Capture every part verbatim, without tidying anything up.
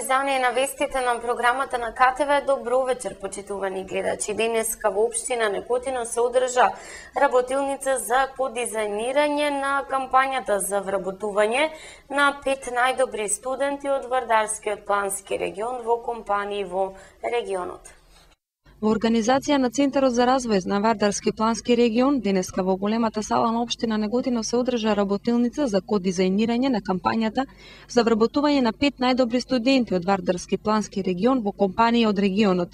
издание на вестите на програмата на К Т В. Добро вечер, почитувани гледачи. Денеска во општина Неготино се одржа работилница за подизајнирање на кампањата за вработување на пет најдобри студенти од Вардарскиот плански регион во компании во регионот. Во организација на Центарот за развој на Вардарски плански регион, денеска во големата сала на општина Неготино се одржа работилница за кодизајнирање на кампањата за вработување на пет најдобри студенти од Вардарски плански регион во компании од регионот.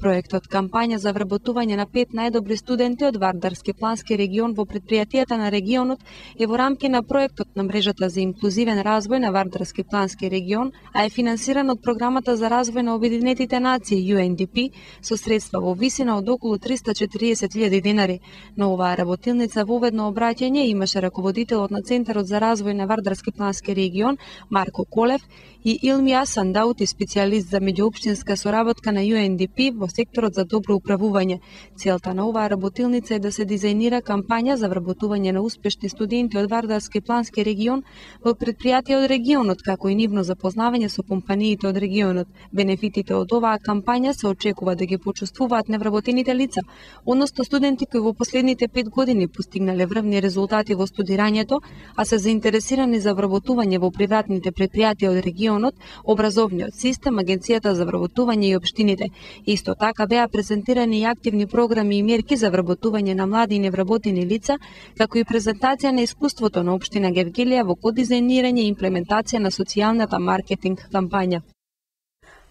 Проектот кампања за вработување на пет најдобри студенти од Вардарски плански регион во предпријатијата на регионот е во рамки на проектот на мрежата за инклузивен развој на Вардарски плански регион, а е финансиран од програмата за развој на Обединетите нации Ю Ен Ди Пи со средства во висина од околу триста и четириесет илјади денари. На оваа работилница воведно обраќање имаше раководителот на Центарот за развој на Вардарски плански регион Марко Колев и Илмија Сандаути, специјалист за меѓуопштинска соработка на Ю Ен Ди Пи во секторот за добро управување. Целта на оваа работилница е да се дизајнира кампања за вработување на успешни студенти од Вардарски плански регион во предпријатија од регионот, како и нивно запознавање со компаниите од регионот. Бенефитите од оваа кампања се очекува да ги почувствуваат невработените лица, односно студенти кои во последните пет години постигнале врвни резултати во студирањето, а се заинтересирани за вработување во приватните предпријатија од регионот, образовниот систем, Агенцијата за вработување и општините. Исто така беа презентирани и активни програми и мерки за вработување на млади и невработени лица, како и презентација на искуството на општина Гевгелија во кодизајнирање и имплементација на социјалната маркетинг кампања.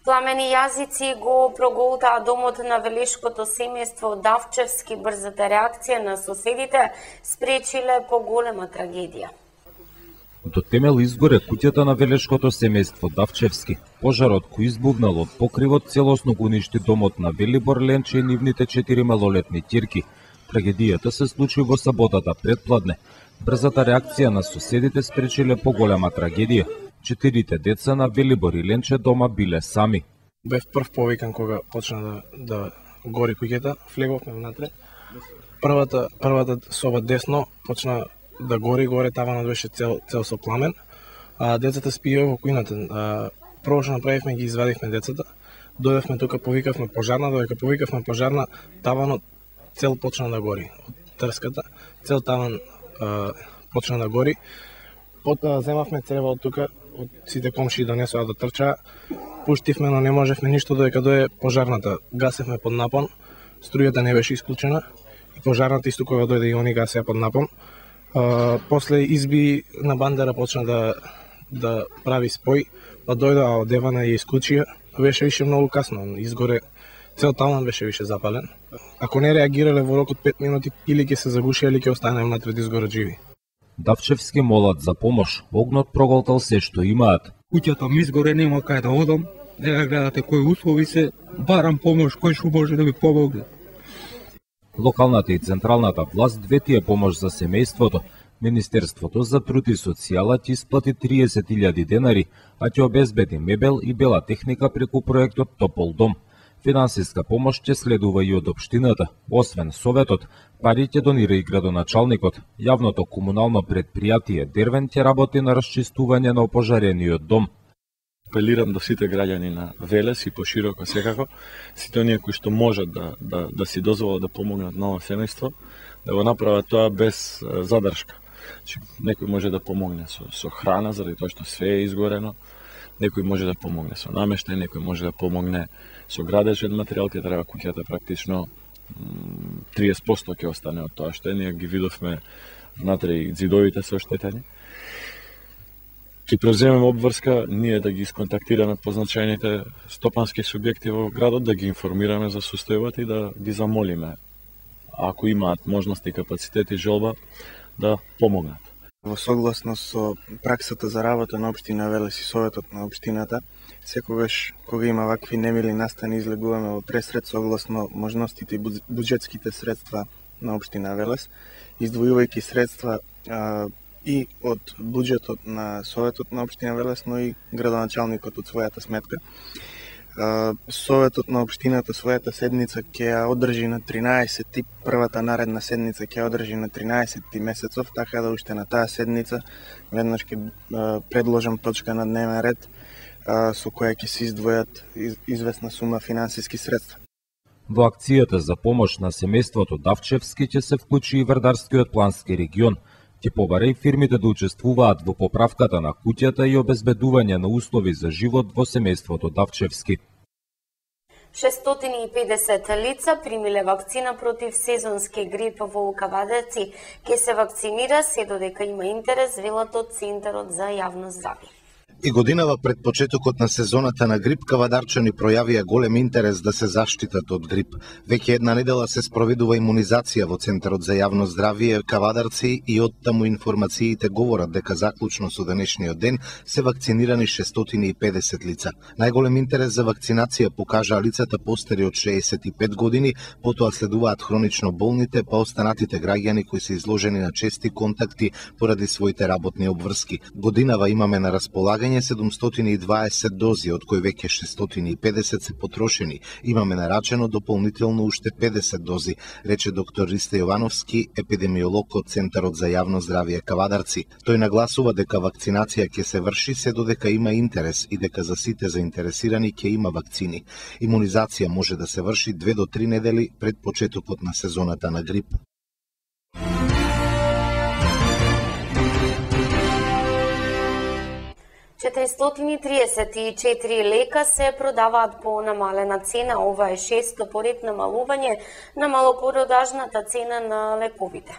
Пламени јазици го проголтаа домот на велешкото семејство Давчевски. Брзата реакција на соседите спречиле поголема трагедија. До темел изгоре куќата на велешкото семејство Давчевски. Пожарот кој избувнал од покривот целосно го уништи домот на Велибор Ленче и нивните четири малолетни ќерки. Трагедијата се случи во саботата предпладне. Брзата реакција на соседите спречиле поголема трагедија. Четирите деца на Велибор и Ленче дома биле сами. Бев прв повикан кога почна да, да гори куќата, влеговме внатре. Првата, првата соба десно почна да гори, горе таванот беше цел, цел со пламен. А децата спиеа во кујната. А, прво што направивме, ги извадивме децата. Дојдевме тука, повикавме пожарна, додека повикавме пожарна, таванот цел почна да гори. Од трската, цел таван а, почна да гори. Потоа земавме црева од тука, од сите комшии донесоа да трчаа. Пуштивме, но не можевме ништо додека дое пожарната. Гасевме под напон, струјата не беше исклучена и пожарната исто кога дојде и они гасеа под напон. А, после изби на бандера почна да да прави спој, па дојдоа од Девана и ја исклучија. Беше више многу касно, изгоре цел таван беше више запален. Ако не реагирале во рок од пет минути, или ќе се загушија или ќе останеме внатре да изгорат живи. Давчевски молат за помош, огнот проголтал се што имаат. Куќата ми изгоре, нема кај да одам, не гледате кои услови се, барам помош, кој што може да ми помогне. Локалната и централната власт ветија помош за семејството. Министерството за труд и социјала ќе исплати триесет илјади денари, а ќе обезбеди мебел и бела техника преку проектот Топол дом. Финансиска помош ќе следува и од општината. Освен Советот, пари ќе донира и градоначалникот. Јавното комунално предпријатие Дервен ќе работи на расчистување на опожарениот дом. Апелирам до сите граѓани на Велес и пошироко секако, сите оние кои што можат да, да, да си дозволат да помогнат на ова семејство, да го направат тоа без задршка. Значи, некој може да помогне со, со храна, заради тоа што све е изгорено, некој може да помогне со намештај, некој може да помогне со градежен материјал, ќе треба куќата практично триесет проценти ќе остане од тоа што е, ние ги видовме внатре и ѕидовите се оштетени. Ќе преземеме обврска, ние да ги исконтактираме позначајните стопански субјекти во градот, да ги информираме за состојбата и да ги замолиме, ако имаат можности, капацитет и желба, да помогнат. Во согласно со праксата за работа на општина Велес и Советот на општината, секогаш кога има вакви немили настани излегуваме во пресред согласно можностите и буџетските средства на општина Велес, издвојувајќи средства а, и од буџетот на Советот на општина Велес, но и градоначалникот од својата сметка. Советот на општината својата седница ќе ја одржи на тринаесети, првата наредна седница ќе ја одржи на тринаесети месецов, така да уште на таа седница веднаш ќе предложам точка на дневен ред со која ќе се издвојат известна сума финансиски средства. Во акцијата за помош на семејството Давчевски ќе се вклучи и Вардарскиот плански регион. Ќе побара и фирмите да учествуваат во поправката на куќата и обезбедување на услови за живот во семејството Давчевски. шестстотини и педесет лица примиле вакцина против сезонски грип во Кавадарци. Ке се вакцинира се додека има интерес, велат од Центарот за јавно здравје. И годинава пред почетокот на сезоната на грип, кавадарчани пројавија голем интерес да се заштитат од грип. Веќе една недела се спроведува имунизација во Центарот за јавно здравје Кавадарци и од таму информациите говорат дека заклучно со денешниот ден се вакцинирани шестстотини и педесет лица. Најголем интерес за вакцинација покажаа лицата постари од шеесет и пет години, потоа следуваат хронично болните, па останатите граѓани кои се изложени на чести контакти поради своите работни обврски. Годинава имаме на располагање седумстотини и дваесет дози, од кои веќе шестстотини и педесет се потрошени. Имаме нарачено дополнително уште педесет дози, рече доктор Ристе Јовановски, епидемиолог од Центарот за јавно здравје Кавадарци. Тој нагласува дека вакцинација ќе се врши се додека има интерес и дека за сите заинтересирани ќе има вакцини. Имунизација може да се врши две до три недели пред почетокот на сезоната на грип. четиристотини и триесет и четири лека се продаваат по намалена цена. Ова е шесто поред намалување на малопродажната цена на лековите.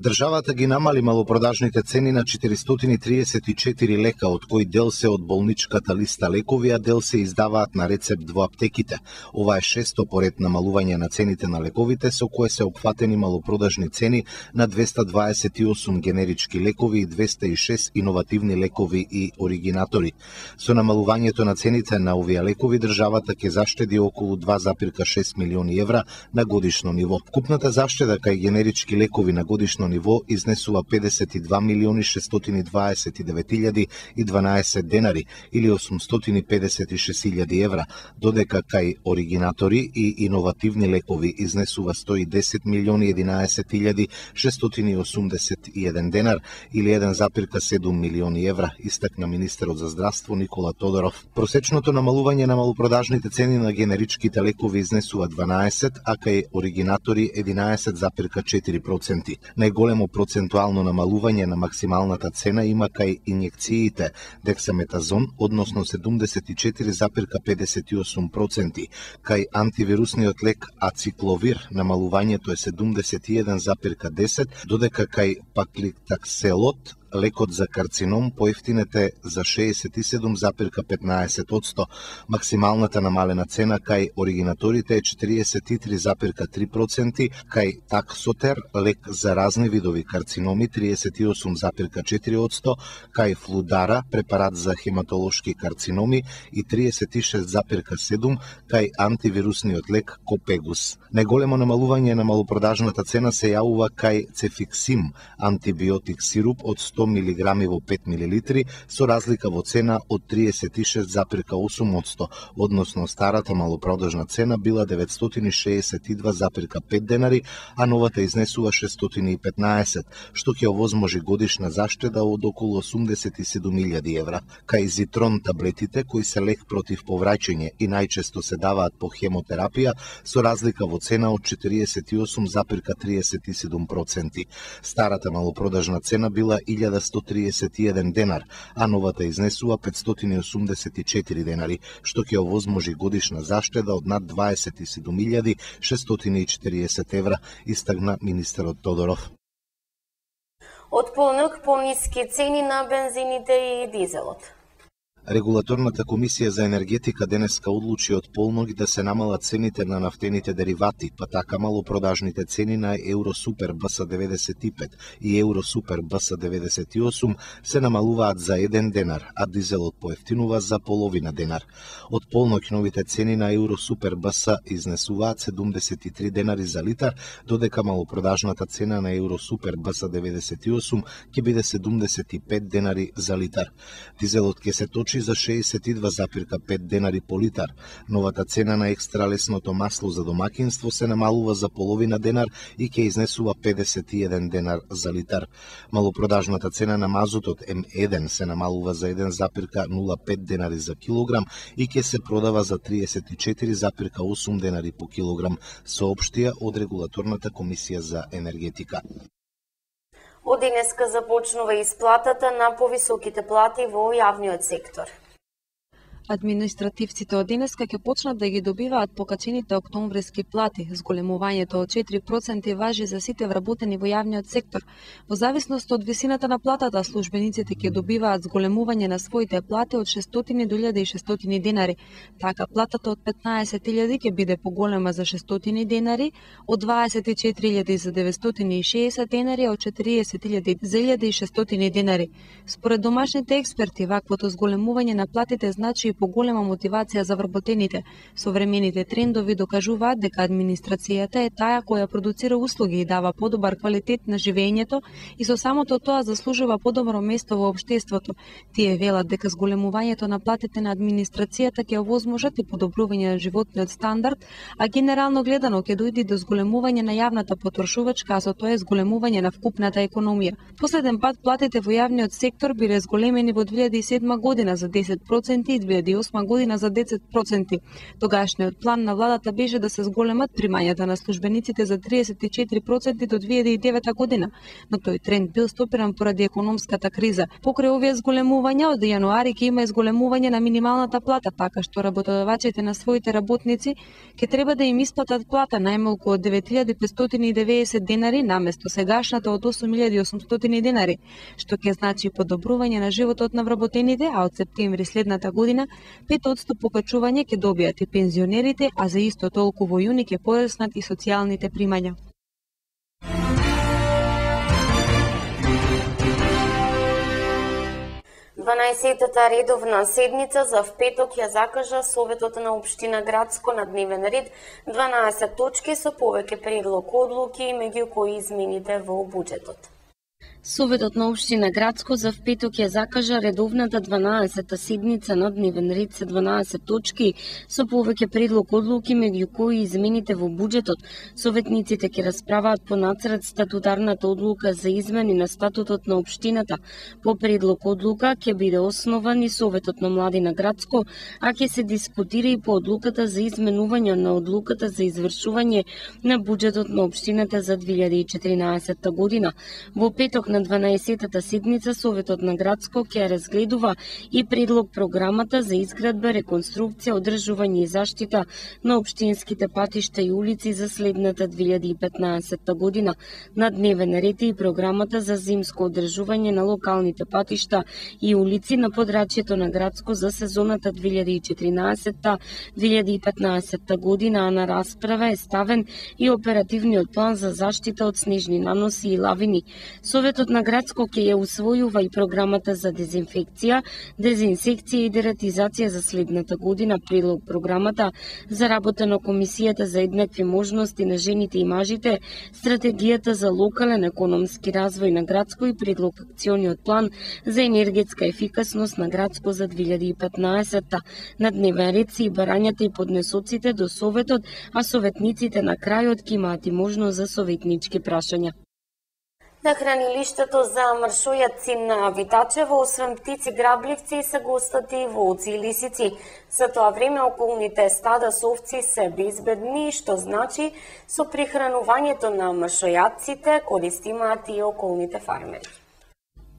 Државата ги намали малопродажните цени на четиристотини и триесет и четири лека, од кои дел се од болничката листа лекови, а дел се издаваат на рецепт во аптеките. Ова е шесто поред намалување на цените на лековите, со кое се опфатени малопродажни цени на двеста дваесет и осум генерички лекови и двеста и шест иновативни лекови и оригинатори. Со намалувањето на цените на овие лекови, државата ќе заштеди околу два зарез и шест милиони евра на годишно ниво. Купната заштеда кај генерички лекови на годишно ниво изнесува педесет и два милиони шестстотини дваесет и девет илјади и дванаесет денари или осумстотини педесет и шест илјади евра, додека кај оригинатори и иновативни лекови изнесува сто и десет милиони единаесет илјади шестстотини осумдесет и еден денар или еден зарез и седум милиони евра, истакна министерот за здравство Никола Тодоров. Просечното намалување на малопродажните цени на генеричките лекови изнесува дванаесет, а кај оригинатори единаесет зарез и четири проценти. Најголемо процентуално намалување на максималната цена има кај инјекциите дексаметазон, односно седумдесет и четири зарез и педесет и осум проценти. Кај антивирусниот лек ацикловир намалувањето е седумдесет и еден зарез и десет, додека кај паклитакселот лекот за карцином поевтинете за шеесет и седум зарез и петнаесет одсто. Максималната намалена цена кај оригинаторите е четириесет и три зарез и три проценти, кај таксотер лек за разни видови карциноми триесет и осум зарез и четири одсто, кај флудара препарат за хематолошки карциноми и триесет и шест зарез и седум, кај антивирусниот лек Копегус. Најголемо намалување на малопродажната цена се јавува кај цефиксим, антибиотик сируп од сто милиграми во пет милилитри, со разлика во цена од триесет и шест зарез и осум одсто, односно старата малопродажна цена била деветстотини шеесет и два зарез и пет денари, а новата изнесува шестстотини и петнаесет, што ќе овозможи годишна заштеда од околу осумдесет и седум илјади евра. Кај зитрон таблетите, кои се лек против повраќање и најчесто се даваат по хемотерапија, со разлика во цена од четириесет и осум зарез и триесет и седум проценти. Старата малопродажна цена била илјада сто триесет и еден денар, а новата изнесува петстотини осумдесет и четири денари, што ќе овозможи годишна заштеда од над дваесет и седум илјади шестстотини и четириесет евра, истагна министерот Тодоров. Од полнок пониски цени на бензините и дизелот. Регулаторната комисија за енергетика денеска одлучи од полног да се намалат цените на нафтените деривати, па така малопродажните цени на Евросупер Б С деветдесет и пет и Евросупер Б С деветдесет и осум се намалуваат за еден денар, а дизелот поевтинува за половина денар. Од полног новите цени на Евросупер Б С изнесуваат седумдесет и три денари за литар, додека малопродажната цена на Евросупер Б С деветдесет и осум ќе биде седумдесет и пет денари за литар. Дизелот ќе се точи скочи за шеесет и два зарез пет денари по литар. Новата цена на екстра лесното масло за домакинство се намалува за половина денар и ќе изнесува педесет и еден денар за литар. Малопродажната цена на мазутот М еден се намалува за еден зарез нула пет денари за килограм и ќе се продава за триесет и четири зарез осум денари по килограм, соопштија од Регулаторната комисија за енергетика. Од денеска започнува исплатата на повисоките плати во јавниот сектор. Административците од денеска ќе почнат да ги добиваат покачените октомвриски плати. Зголемувањето од четири проценти важи за сите вработени во јавниот сектор. Во зависност од висината на платата, службениците ќе добиваат зголемување на своите плати од шестстотини до илјада и шестстотини денари. Така платата од петнаесет илјади ќе биде поголема за шестстотини денари, од дваесет и четири илјади за деветстотини и шеесет денари, од четириесет илјади за илјада и шестстотини денари. Според домашните експерти, ваквото зголемување на платите значи и поголема мотивација за вработените. Современите трендови докажуваат дека администрацијата е таа која продуцира услуги и дава подобар квалитет на живеењето и со самото тоа заслужува подобро место во општеството. Тие велат дека зголемувањето на платите на администрацијата ќе овозможат и подобрување на животниот стандард, а генерално гледано ќе дојде до зголемување на јавната потрошувачка, а со тоа е зголемување на вкупната економија. Последен пат платите во јавниот сектор биле зголемени во две илјади и седма година за десет проценти и две илјади и осма година за десет проценти. Тогашниот план на владата беше да се зголемат примањата на службениците за триесет и четири проценти до две илјади и девета година, но тој тренд бил стопиран поради економската криза. Покрај овие зголемувања од јануари ќе има и зголемување на минималната плата, така што работодавачите на своите работници ќе треба да им исплатат плата најмалку од девет илјади петстотини и деветдесет денари наместо сегашната од осум илјади и осумстотини денари, што ќе значи подобрување на животот на вработените, а од септември следната година пет одсто покачување ќе добијат и пензионерите, а за исто толку во јуни ќе пореснат и социјалните примања. дванаесеттата редовна седница за впеток ја закажа Советот на општина Градско на дневен ред дванаесет точки со повеќе предлог одлуки, меѓу кои измените во буџетот. Советот на општина Градско за впеток ја закажа редовната дванаесета седница на дневен ред се дванаесет точки со повеќе предлог одлуки, меѓу кои измените во буџетот. Советниците ќе расправаат по нацрт статутарната одлука за измени на статутот на општината. По предлог одлука ќе биде основан и Советот на млади на Градско, а ќе се дискутира и по одлуката за изменување на одлуката за извршување на буџетот на општината за две илјади и четиринаесетта година. Во петок на дванаесеттата седница Советот на Градско ќе разгледува и предлог програмата за изградба, реконструкција, одржување и заштита на општинските патишта и улици за следната две илјади и петнаесетта година. На дневен ред е и програмата за зимско одржување на локалните патишта и улици на подрачјето на Градско за сезоната две илјади и четиринаесетта - две илјади и петнаесетта година, а на расправа е ставен и оперативниот план за заштита од снежни наноси и лавини. Советот на Градско ќе ја усвојува и програмата за дезинфекција, дезинсекција и дератизација за следната година. Предлог програмата за работа на Комисијата за еднакви можности на жените и мажите, стратегијата за локален економски развој на Градско и предлог акциониот план за енергетска ефикасност на Градско за две илјади и петнаесетта. На дневен ред се и барањата и поднесоците до Советот, а советниците на крајот ќе имаат и можност за советнички прашања. На хранилиштето за мршојаци на Витачево, освен птици грабливци, се гостати волци и лисици. За тоа време околните стада со овци се безбедни, што значи со прихранувањето на мршојаците корист имаат и околните фармери.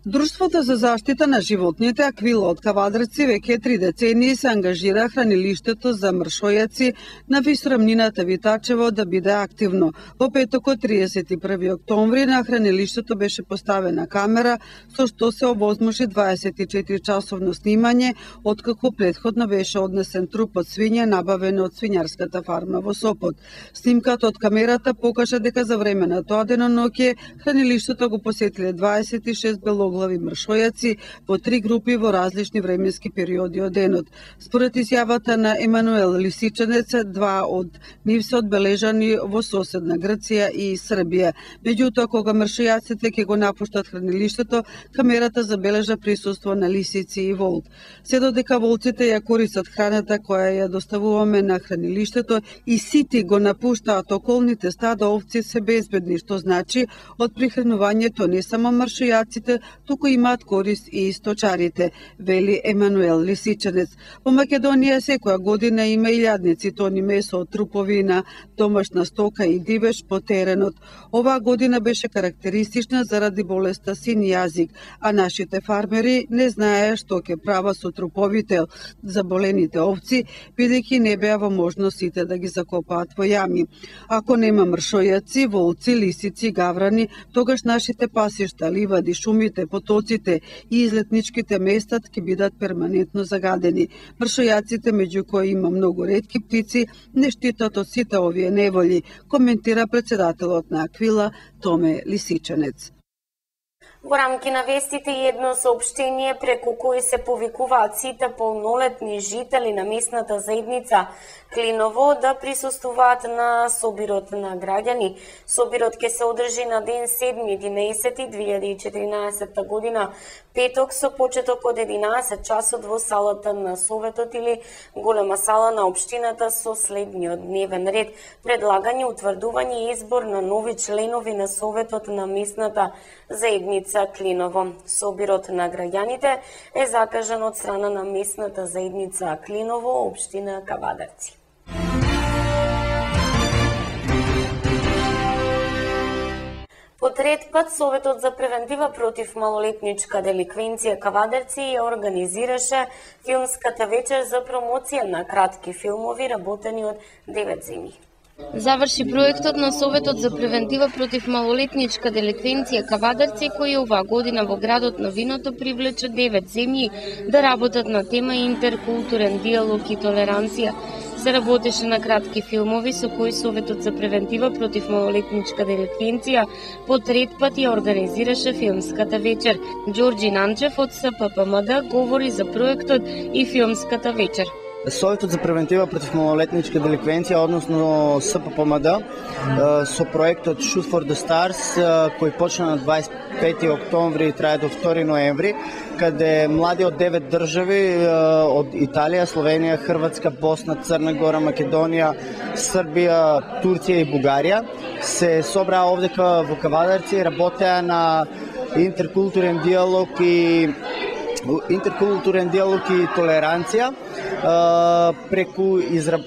Друштвото за заштита на животните Аквила од Кавадрци веќе три децении се ангажира хранилиштето за мршојаци на висрамнината Витачево да биде активно. Во петокот триесет и први октомври на хранилиштето беше поставена камера со што се овозможи дваесет и четири часовно снимање, откако претходно беше однесен труп од свиња набавен од свињарската фарма во Сопот. Снимката од камерата покажа дека за време на тоа деноноќе хранилиштето го посетиле дваесет и шест белоглави троглави мршојаци во три групи во различни временски периоди од денот. Според изјавата на Емануел Лисичанец, два од нив се одбележани во соседна Грција и Србија. Меѓутоа, кога мршојаците ќе го напуштат хранилиштето, камерата забележа присуство на лисици и волк. Се додека волците ја користат храната која ја доставуваме на хранилиштето и сити го напуштаат околните стада, овци се безбедни, што значи од прихранувањето не само мршојаците, туку имаат корист и сточарите, вели Емануел Лисичанец. Во Македонија секоја година има илјадници тони месо од трупови на домашна стока и дивеч по теренот. Оваа година беше карактеристична заради болеста син јазик, а нашите фармери не знае што ќе права со труповите заболените овци, бидејќи не беа во можност сите да ги закопаат во јами. Ако нема мршојаци, волци, лисици, гаврани, тогаш нашите пасишта, ливади, шумите, потоците и излетничките места ќе бидат перманентно загадени. Мршојаците, меѓу кои има многу ретки птици, не штитат од сите овие неволи, коментира председателот на Аквила Томе Лисичанец. Во рамки на вестите едно соопштение преку кои се повикуваат сите полнолетни жители на местната заедница Клиново да присуствуваат на собирот на граѓани. Собирот ќе се одржи на ден седми единаесети две илјади и четиринаесетта година, петок со почеток од единаесет часот во салата на Советот или голема сала на општината со следниот дневен ред: предлагање, утврдување и избор на нови членови на Советот на местната заедница Клиново. Собирот на граѓаните е закажан од страна на местната заедница Клиново, општина Кавадарци. По трет пат Советот за превентива против малолетничка деликвенција Кавадарци ја организираше филмската вечер за промоција на кратки филмови работени од девет земји. Заврши проектот на Советот за превентива против малолетничка деликвенција Кавадарци, кој оваа година во градот на виното привлече девет земји да работат на тема интеркултурен диалог и толеранција. Се работеше на кратки филмови со кои Советот за превентива против малолетничка деликвенција по трет пат ја организираше филмската вечер. Ѓорѓи Нанчев од С П П М Д говори за проектот и филмската вечер. Советот за превентива против малолетничка деликвенција, односно С П П М Д, со проектот Shoot for the Stars, кој почна на дваесет и пети октомври и трае до втори ноември, каде млади од девет држави, од Италија, Словенија, Хрватска, Босна, Црна Гора, Македонија, Србија, Турција и Бугарија, се собраа овдека во Кавадарци, работеа на интеркултурен диалог и интеркултурен диалог и толеранција преку изра...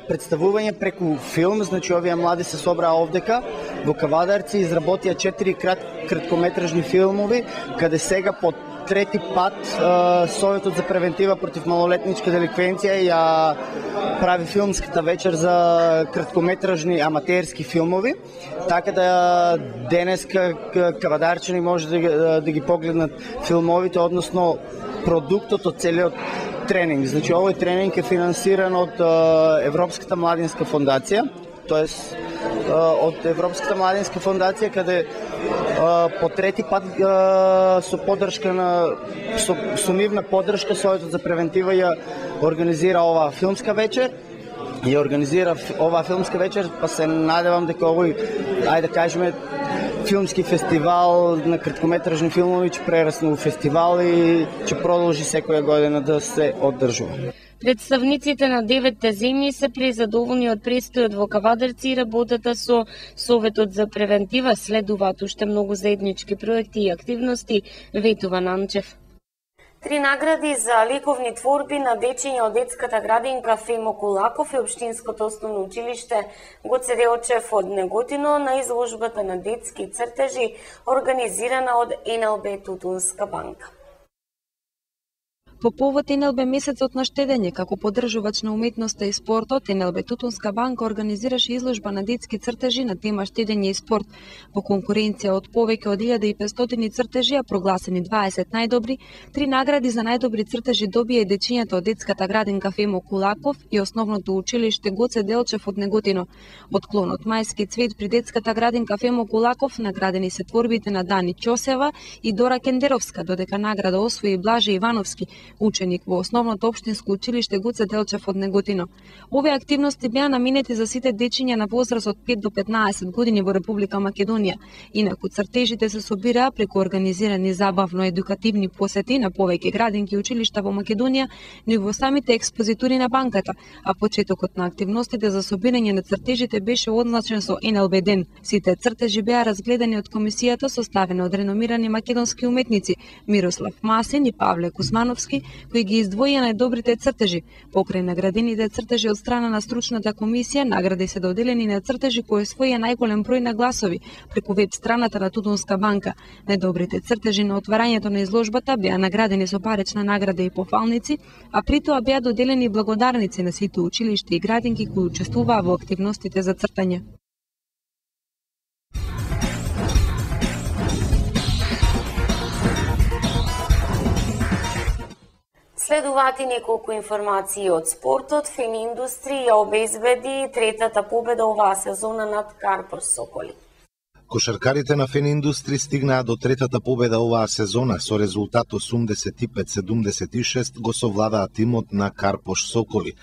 представување преку филм. Значи, овие млади се собраа овдека во Кавадарци, изработија четири крат... краткометражни филмови, каде сега по трети пат Советот за превентива против малолетничка деликвенција ја прави филмската вечер за краткометражни аматерски филмови, така да денеска кавадарчани може да, да ги погледнат филмовите, односно продуктот од целиот тренинг. Значи, овој тренинг е финансиран од Европската младинска фондација, тоест од Европската младинска фондација, каде по трети пат со поддршка на со, со нивна поддршка Советот за превентива ја организира оваа филмска вечер. Ја организира оваа филмска вечер, па се надевам дека овој, ајде да кажеме, филмски фестивал на краткометражни филмови ќе прерасне во фестивал и ќе продолжи секоја година да се одржува. Представниците на деветте земји се презадоволни од престојот во Кавадарци и работата со Советот за превентива. Следуваат уште многу заеднички проекти и активности, ветува Нанчев. Три награди за ликовни творби на дечиња од детската градинка Фемо Кулаков и Општинското основно училиште Гоце Делчев од Неготино на изложбата на детски цртежи организирана од Н Л Б Тутунска банка. По повод Ен Ел Бе месецот на штедење, како поддржувач на уметноста и спортот, Ен Ел Бе Тутунска банка организираше изложба на детски цртежи на тема штедење и спорт. Во конкуренција од повеќе од илјада и петстотини цртежи, а прогласени дваесет најдобри, три награди за најдобри цртежи добија и дечињата од детската градинка Фемо Кулаков и основното училиште Гоце Делчев од Неготино. Од клонот Мајски цвет при детската градинка Фемо Кулаков наградени се творбите на Дани Ќосева и Дора Кендеровска, додека награда освои Блаже Ивановски, ученик во основното општинско училиште Гоце Делчев од Неготино. Овие активности беа наменети за сите дечиња на возраст од пет до петнаесет години во Република Македонија. Инаку цртежите се собираа преку организирани забавно-едукативни посети на повеќе градинки и училишта во Македонија, но и во самите експозитури на банката, а почетокот на активностите за собирање на цртежите беше одзначен со Ен Ел Бе ден. Сите цртежи беа разгледани од комисијата составена од реномирани македонски уметници Мирослав Масин и Павле Кузмановски, кои ги издвоија најдобрите цртежи. Покрај наградените цртежи од страна на стручната комисија, награди се доделени на цртежи кои освоија најголем број на гласови преку веб страната на Тутунска банка. Најдобрите цртежи на отварањето на изложбата беа наградени со парична награда и пофалници, а при тоа беа доделени благодарници на сите училишта и градинки кои учествуваа во активностите за цртање. Следуваат и неколку информации од спортот. Фени Индустри ја обезбеди третата победа оваа сезона над Карпош Соколи. Кошаркарите на Фени Индустри стигнаа до третата победа оваа сезона со резултат осумдесет и пет седумдесет и шест го совладаа тимот на Карпош Соколи.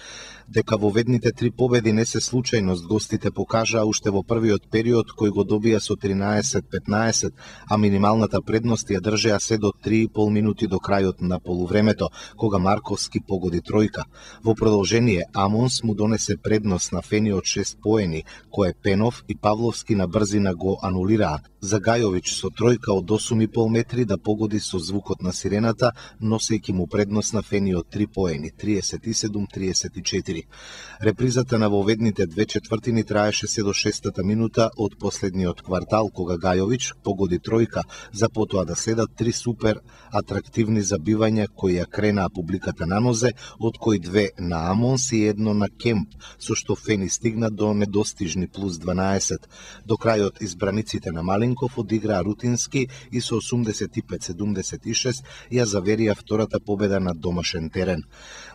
Дека во ведните три победи не се случајност, гостите покажаа уште во првиот период кој го добија со тринаесет петнаесет, а минималната предност ја држеа се до три и пол минути до крајот на полувремето, кога Марковски погоди тројка. Во продолжение, Амонс му донесе предност на Фени од шест поени, кој Пенов и Павловски на брзина го анулираа. За Гајовиќ со тројка од осум и пол метри да погоди со звукот на сирената, носејќи му предност на Фени од три поени, триесет и седум триесет и четири. Репризата на воведните две четвртини траеше се до шестата минута од последниот квартал, кога Гајовиќ погоди тројка, за потоа да следат три супер атрактивни забивања кои ја кренаа публиката на нозе, од кои две на Амонс и едно на Кемп, со што Фени стигна до недостижни плюс дванаесет. До крајот избраниците на Малинков одиграа рутински и со осумдесет и пет седумдесет и шест ја заверија втората победа на домашен терен.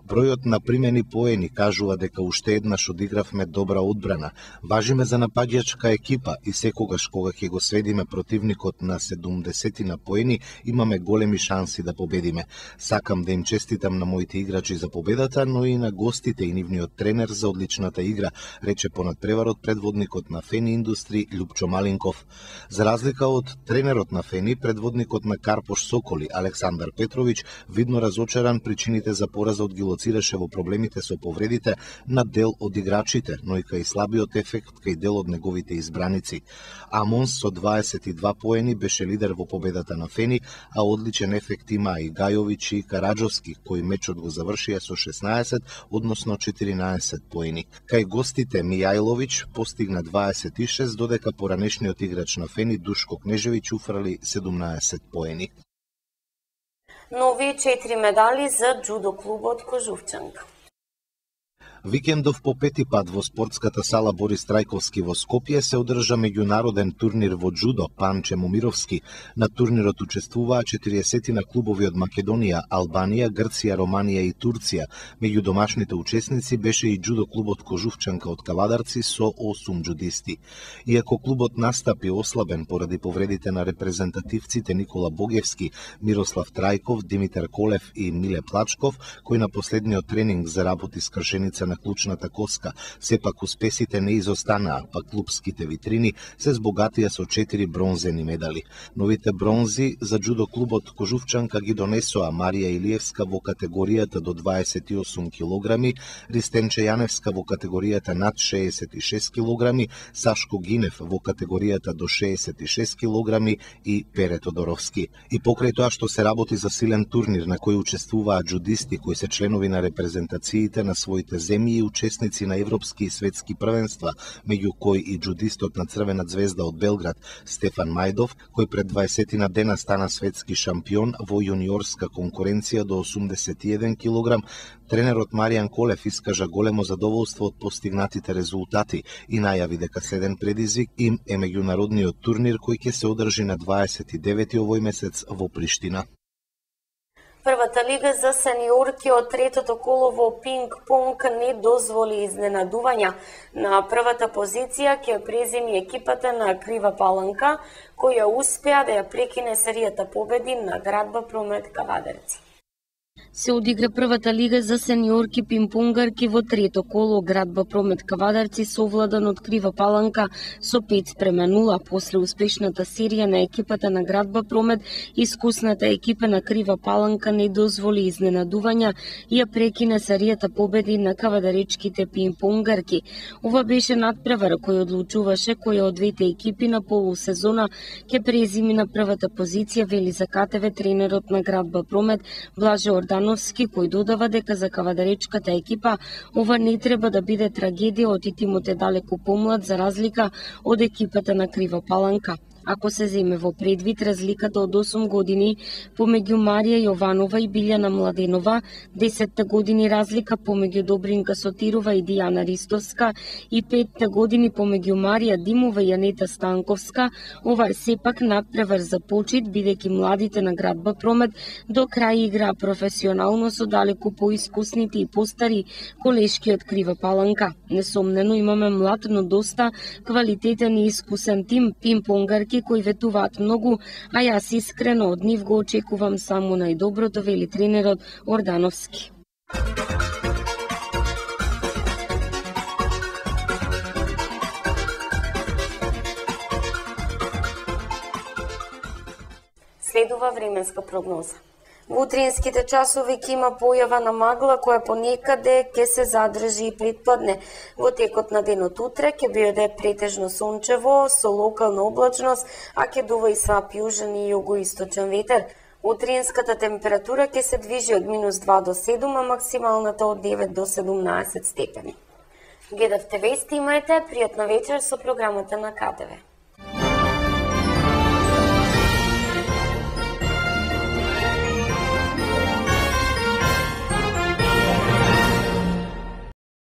Бројот на примени поени кажува дека уште еднаш одигравме добра одбрана. Важиме за напаѓачка екипа и секогаш кога ќе го сведиме противникот на седумдесет на поени, имаме големи шанси да победиме. Сакам да им честитам на моите играчи за победата, но и на гостите и нивниот тренер за одличната игра, рече понад преварот предводникот на Фени Индустри Љупчо Малинков. За разлика од тренерот на Фени, предводникот на Карпош Соколи Александар Петровиќ, видно разочаран причините за поразот ги лоцираше во проблемите со повредите на дел од играчите, но и кај слабиот ефект кај дел од неговите избраници. Амонс со дваесет и два поени беше лидер во победата на Фени, а одличен ефект има и Гајовиќ и Караджовски, кои мечот го завршија со шеснаесет, односно четиринаесет поени. Кај гостите Мијајловиќ постигна дваесет и шест, додека поранешниот играч на Фени Душко Кнежевиќ уфрали седумнаесет поени. Нови четири медали за джудо клубот Кожувчанка. Викендов по пети пат во спортската сала Борис Трајковски во Скопје се одржа меѓународен турнир во джудо Панче Момировски. На турнирот учествуваа четириесет на клубови од Македонија, Албанија, Грција, Романија и Турција. Меѓу домашните учесници беше и джудо клубот Кожувчанка од Кавадарци со осум джудисти. Иако клубот настапи ослабен поради повредите на репрезентативците Никола Богевски, Мирослав Трајков, Димитар Колев и Миле Плачков, кој на последниот тренинг заработи скршеница на клучната коска, сепак успесите не изостанаа, па клубските витрини се збогатија со четири бронзени медали. Новите бронзи за джудо клубот Кожувчанка ги донесоа Марија Илиевска во категоријата до дваесет и осум килограми, Ристенче Јаневска во категоријата над шеесет и шест килограми, Сашко Гинев во категоријата до шеесет и шест килограми и Пере Тодоровски. И покрај тоа што се работи за силен турнир на кој учествуваат джудисти кои се членови на репрезентациите на своите земји, премии учесници на европски и светски првенства, меѓу кои и джудистот на Црвена звезда од Белград Стефан Мајдов, кој пред дваесет дена стана светски шампион во јуниорска конкуренција до осумдесет и еден килограм. Тренерот Маријан Колев искажа големо задоволство од постигнатите резултати и најави дека следен предизвик им е меѓународниот турнир кој ќе се одржи на дваесет и девети овој месец во Приштина. Првата лига за сениорки од третото коло во пинг-понг не дозволи изненадувања. На првата позиција ќе преземи екипата на Крива Паланка, која успеа да ја прекине серијата победи на Градба Промет Кавадарци. Се одигра првата лига за сениорки пинг-понгарки во трето коло. Градба Промет Кавадарци совладан од Крива Паланка со пет спрема нула. После успешната серија на екипата на Градба Промет, искусната екипа на Крива Паланка не дозволи изненадувања и ја прекина серијата победи на кавадаречките пинг-понгарки. Ова беше надпревар кој одлучуваше која од двете екипи на полусезона ќе презими на првата позиција, вели за КТВ тренерот на Градба Промет Блаже Ордановски, кој додава дека за кавадаречката екипа ова не треба да биде трагедија, од тимот е далеку помлад за разлика од екипата на Крива Паланка. Ако се земе во предвид разликата од осум години помеѓу Марија Јованова и Билјана Младенова, десет години разлика помеѓу Добринка Сотирова и Дијана Ристовска и пет години помеѓу Марија Димова и Јанета Станковска, ова е сепак надпревар за почит, бидејќи младите на Градба Промет до крај игра професионално со далеку поискусните и постари колешки од Крива Паланка. Несомнено имаме млад, но доста квалитетен и искусен тим пинг-понгарки кои ветуваат многу, а јас искрено од нив го очекувам само најдоброто, вели тренерот Ордановски. Следува временска прогноза. Во утринските часови ќе има појава на магла која понекаде ќе се задржи и предпладне. Во текот на денот утре ќе биде претежно сончево со локална облачност, а ќе дува и слаб јужен и југоисточен ветер. Утринската температура ќе се движи од минус два до седум, а максималната од девет до седумнаесет степени. Гледавте вести, имајте пријатна вечер со програмата на КТВ.